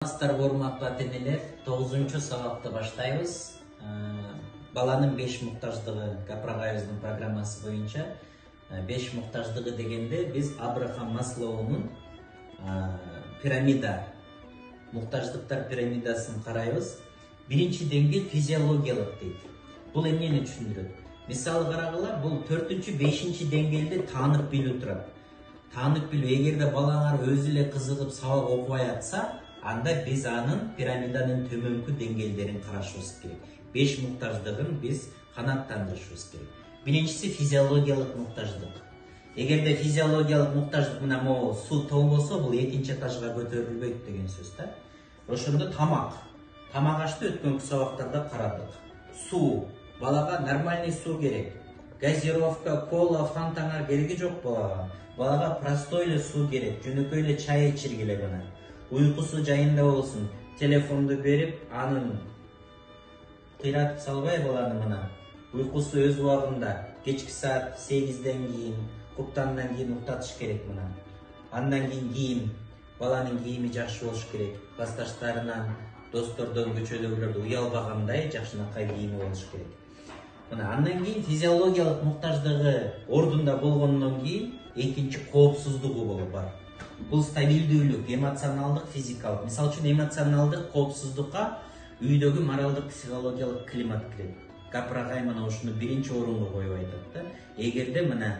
Урматтуу ата-энелер, 9-сабакты баштайбыз. Баланын 5 муктаждыгы Капрагайыбыздын программасы боюнча 5 муктаждыгы дегенде биз Абрахам Маслоунун пирамида, муктаждыктар пирамидасын карайбыз. Биринчи деңгээл физиологиялык дейт. Бул эмнени түшүндүрөт? Мисалы карагыла, бул 4-5 деңгээлде таанып билүү турат. Таанып билүү, эгерде балаңар өзү эле кызыгып сабак окубай атса, анда биз анын пирамиданын төмөнкү деңгээлдерин карашыбыз керек. 5 муктаждыгын биз канааттандырышыбыз керек. Биринчиси физиологиялык муктаждык. Эгерде физиологиялык муктаждык мына могу суу толбосо, бул экинчи этажга көтөрүлбөйт деген сөз да. Ошондо тамак. Тамак ашты өткөнкү сабактарда карадык. Суу. Балага нормальный суу керек. Газировка, кола, фантаңар кереги жок балага. Балага простой эле суу керек. Жөнөкөй эле чай ичиргиле гана. Уйкусу жайында болсун. Телефонду берип, анын кыйратып салбай баланы мына. Уйкусу өз убагында. Кечки саат 8ден кийин, куптандан кийин уктатыш керек мына. Андан кийин кийим. Баланын кийими жакшы болуш керек. Классташтарынан, достордон, көчөдөгүлөрдөн уялбагандай жакшынакай кийими болуш керек. Мына андан кийин физиологиялык муктаждыгы ордунда болгондон кийин экинчи коопсуздугу болуп бар. Бул стабилдүүлүк, эмоционалдык, физикалык. Мисалы үчүн эмоционалдык коопсуздукка үйдөгү моралдык, психологиялык климат кирет. Капрагай мына ушуну биринчи орунга коюп айтат да. Эгерде мына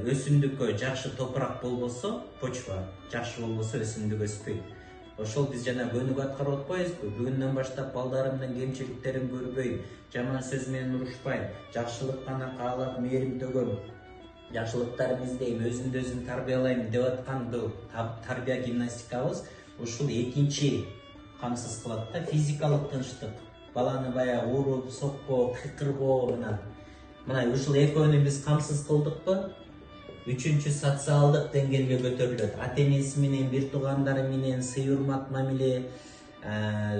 өсүмдүккө жакшы топурак болбосо, почва жакшы болбосо өсүмдүк өспөйт. Ошол биз жана көнүк аткарып атпайбызбы? Бүгүндөн баштап балдарымдын кемчиликтерин көрбөй, жаман сөз менен урушпай, жакшылык гана каалап, мээрим төгөм, жакшылыктарын издейм, өзүмдү өзүм тарбиялайм деп аткан бул тарбия гимнастикабыз ушул экинчи камсыз кылат да. Физикалык тынчтык, баланы баягы уруп, сокпоо, кыйкырбоо мына ушул экөөнү биз камсыз кылдыкпы? Үчүнчү социалдык деңгээлге көтөрүлөт. Ата-энеси менен, бир туугандары менен сый-урмат мамиле,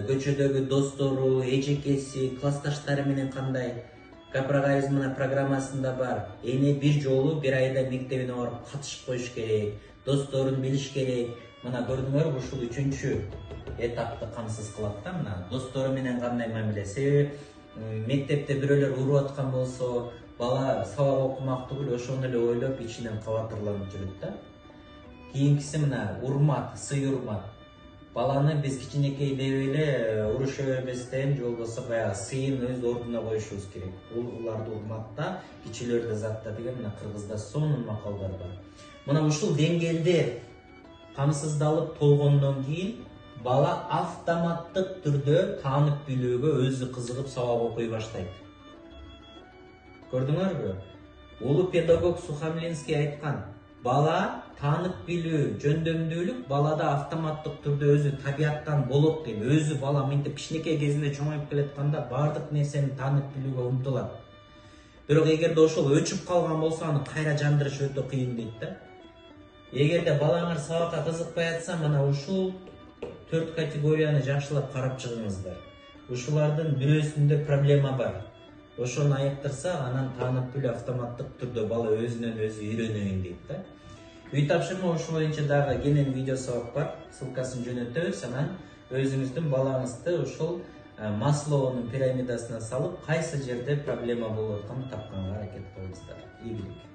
көчөдөгү достору, эжекеси, классташтары менен кандай. Капрагайыбыз мына программасында бар. Эне бир жолу бир айда мектебине барып катышып коюш керек, досторун билиш керек. Мына көрдүңөрбү, ушул үчүнчү этапты камсыз кылат да. Мына достору менен кандай мамиле. Себеби мектепте бирөөлөр уруп аткан болсо, бала сабак окумак түгүл ошону эле ойлоп ичинен кабатырланып жүрөт да. Кийинкиси мына урмат, сый-урмат. Баланы биз кичинекей деп эле уруша бербестен, же болбосо баягы сыйын өз ордуна коюшубуз керек. Уларды урматта, кичилерди затта деген мына кыргызда сонун макалдар бар. Мына ушул деңгээлде камсыздалып болгондон кийин бала автоматтык түрдө таанып билүүгө өзү кызыгып сабак окуй баштайт. Көрдүңөрбү? Улуу педагог Сухомлинский айткан, бала таанып билүү, жөндөмдүүлүк балада автоматтык түрдө өзү табияттан болот дейт. Өзү бала мынтип кичинекей кезинде чоңоюп келатканда бардык нерсени таанып билүүгө умтулат. Бирок эгерде ошол өчүп калган болсо, аны кайра жандырыш өтө кыйын дейт да. Эгерде балаңар сабакка кызыкпай атса, мына ушул 4 категорияны жакшылап карап чыгыңыздар. Ушулардын бирөөсүндө проблема бар. Ошону айыктырса, анан таанып билүү автоматтык түрдө бала өзүнөн өзү үйрөнөйүн дейт да. Үй тапшырма ошол боюнча дагы кенен видео сабак бар. Ссылкасын жөнөтөбүз, анан өзүңүздүн балаңызды ушул Маслоунун пирамидасына салып, кайсы жерде проблема болуп атканын тапканга аракет кылыңыздар. Ийгилик.